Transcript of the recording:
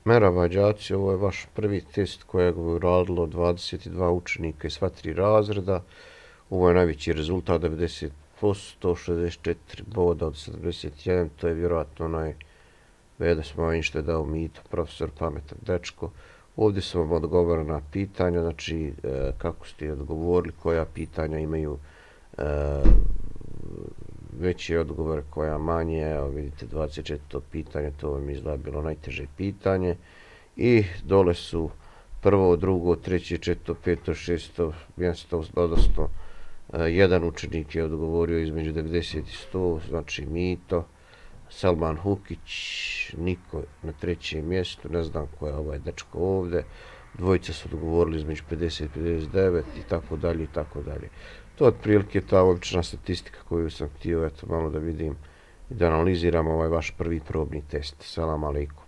Merhaba đaci, ovo je vaš prvi test kojeg je uradilo 22 učenika iz sva tri razreda. Ovo je najveći rezultat, 90%, 64 boda od 71, to je vjerojatno onaj Veda Smajin što je dao mito, profesor pametan dečko. Ovdje su vam odgovorena pitanja, znači kako ste odgovorili, koja pitanja imaju veće odgovore, koja manje. Evo vidite 24. pitanje, to vam izgleda bilo najteže pitanje. I dole su prvo, drugo, treće, četvrto, peto, šesto mjesto, odnosno jedan učenik je odgovorio između 90 i 100, znači mito. Salman Hukić, Niko na trećem mjestu, ne znam ko je ovaj dečko ovdje. Dvojica su odgovorili između 50 i 59 i tako dalje i tako dalje. To je otprilike ta obična statistika koju sam htio malo da vidim i da analiziram ovaj vaš prvi probni test. Selam aleikum.